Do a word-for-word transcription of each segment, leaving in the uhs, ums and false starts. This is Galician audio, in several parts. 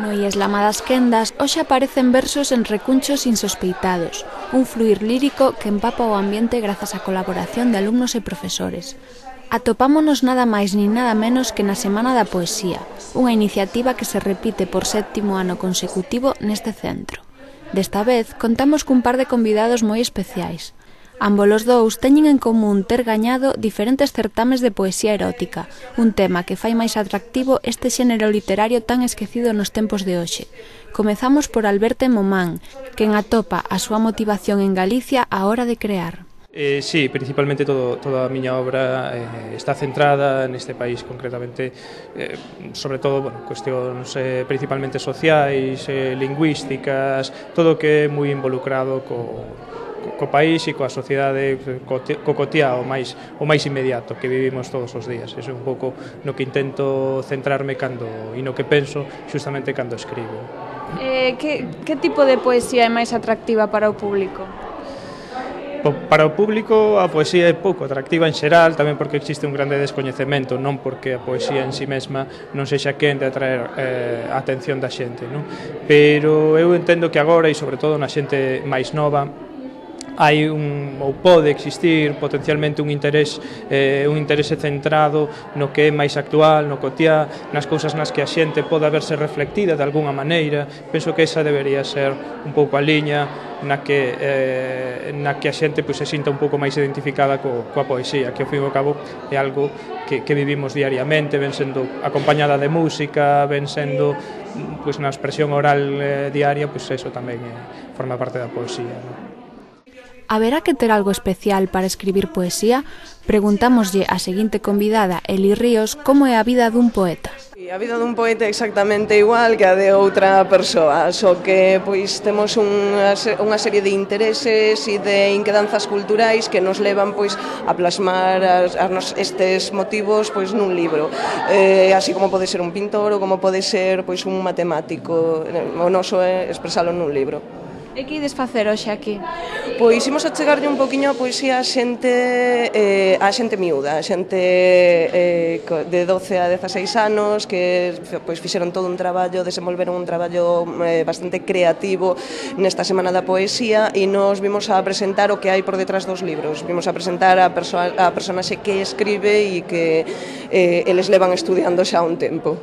No Ieslama das Quendas hoxe aparecen versos en recunchos insospeitados, un fluir lírico que empapa o ambiente grazas á colaboración de alumnos e profesores. Atopámonos nada máis nin nada menos que na Semana da Poesía, unha iniciativa que se repite por sétimo ano consecutivo neste centro. Desta vez contamos cun par de convidados moi especiais. Ambos os dous teñen en común ter gañado diferentes certames de poesía erótica, un tema que fai máis atractivo este xénero literario tan esquecido nos tempos de hoxe. Comezamos por Alberto Momán, quen atopa a súa motivación en Galicia á hora de crear. Eh, sí, principalmente todo, toda a miña obra eh, está centrada neste país, concretamente, eh, sobre todo, bueno, cuestións eh, principalmente sociais, eh, lingüísticas, todo o que é moi involucrado co, co país e coa sociedade, co, co cotiá o máis, o máis inmediato que vivimos todos os días. Eso é un pouco no que intento centrarme cando, e no que penso xustamente cando escribo. Eh, que, que tipo de poesía é máis atractiva para o público? Para o público a poesía é pouco atractiva en xeral, tamén porque existe un grande descoñecemento, non porque a poesía en si mesma non sexa quen de atraer eh, a atención da xente, non? Pero eu entendo que agora, e sobre todo na xente máis nova, hai un, ou pode existir potencialmente un interés eh, un interese centrado no que é máis actual, no cotiá, nas cousas nas que a xente pode haberse reflectida de algunha maneira. Penso que esa debería ser un pouco a liña na que, eh, na que a xente pois, se sinta un pouco máis identificada co, coa poesía, que ao fin e ao cabo é algo que, que vivimos diariamente, ven sendo acompañada de música, ven sendo pois, na expresión oral eh, diaria, pois eso tamén eh, forma parte da poesía, non? Haberá que ter algo especial para escribir poesía? Preguntámoslle á seguinte convidada, Eli Ríos, como é a vida dun poeta. A vida dun poeta é exactamente igual que a de outra persoa, só que pois temos unha, unha serie de intereses e de inquedanzas culturais que nos levan pois a plasmar as, as, estes motivos pois nun libro, eh, así como pode ser un pintor ou como pode ser pois un matemático. O noso é expresalo nun libro. E que ides facer hoxe aquí? Pois imos a chegarlle un poquinho a poesía a xente, eh, a xente miúda, a xente eh, de doce a dezaseis anos que pois, fixeron todo un traballo, desenvolveron un traballo eh, bastante creativo nesta Semana da Poesía e nos vimos a presentar o que hai por detrás dos libros. Vimos a presentar a, perso a personaxe que escribe e que eh, eles levan estudiando xa un tempo.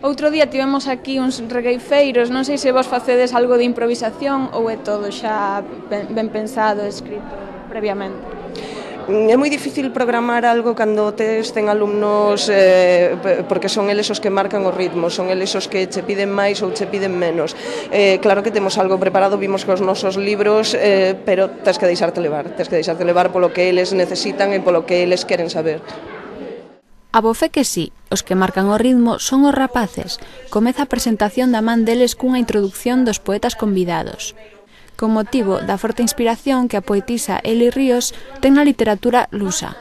Outro día tivemos aquí uns regueifeiros, non sei se vos facedes algo de improvisación ou é todo xa ben pensado, escrito previamente. É moi difícil programar algo cando tes ten alumnos eh, porque son eles os que marcan os ritmos, son eles os que che piden máis ou che piden menos. Eh, claro que temos algo preparado, vimos cos nosos libros, eh, pero tens que deixarte levar, tens que deixarte levar polo que eles necesitan e polo que eles queren saber. A bofé que sí, os que marcan o ritmo son os rapaces. Comeza a presentación da man deles cunha introducción dos poetas convidados. Con motivo da forte inspiración que a poetisa Eli Ríos ten na literatura lusa.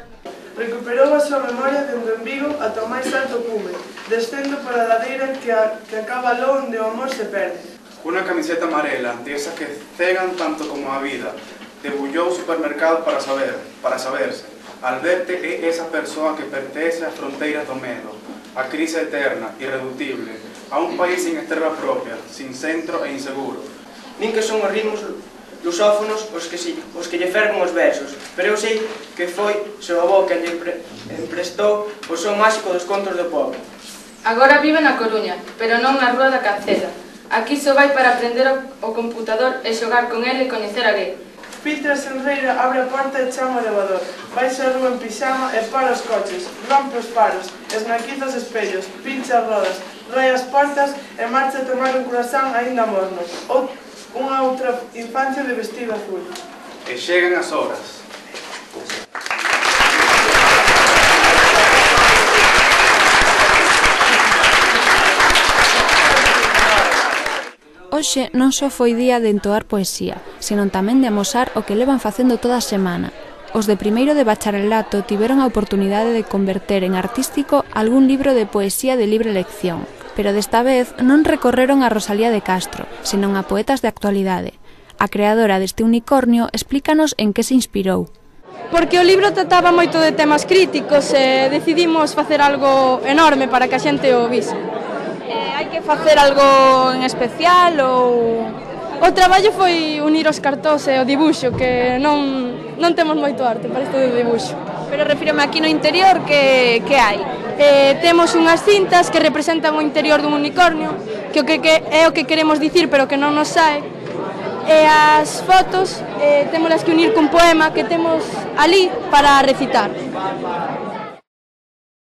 Recuperou a súa memoria dende en Vigo ata o máis alto cume, descendo por a ladeira que, a, que acaba lo onde o amor se perde. Unha camiseta amarela, de esas que cegan tanto como a vida, debullou o supermercado para saber, para saberse. Alberto é esa persoa que pertence ás fronteiras do medo, a crise eterna, irreductible, a un país sin estrela propia, sin centro e inseguro. Nin que son os ritmos lusófonos os que, si, os que lle ferven os versos, pero eu sei que foi seu avó que lle pre, emprestou o son máxico dos contos do povo. Agora vive na Coruña, pero non na Rúa da Cancela. Aquí só vai para aprender o computador e xogar con ele e coñecer a lei. Peter Senreira abre a porta e chama o elevador. Baixa a rúa en pixama e para os coches, rompe os paros, esnaquiza os espellos, pincha as rodas, rai as portas e marcha a tomar un croissant aínda morno. Ou unha outra infancia de vestido azul. E chegan as horas. Hoxe non só foi día de entoar poesía, senón tamén de amosar o que levan facendo toda a semana. Os de primeiro de bacharelato tiveron a oportunidade de converter en artístico algún libro de poesía de libre elección, pero desta vez non recorreron a Rosalía de Castro, senón a poetas de actualidade. A creadora deste unicornio explícanos en que se inspirou. Porque o libro trataba moito de temas críticos e decidimos facer algo enorme para que a xente o vise. Eh, Hai que facer algo en especial ou... O traballo foi unir os cartóns e o dibuixo, que non, non temos moito arte para isto do dibuixo. Pero refírome aquí no interior, que, que hai? Eh, temos unhas cintas que representan o interior dun unicornio, que, o que, que é o que queremos dicir, pero que non nos sae. E as fotos eh, témolas que unir cun poema que temos ali para recitar.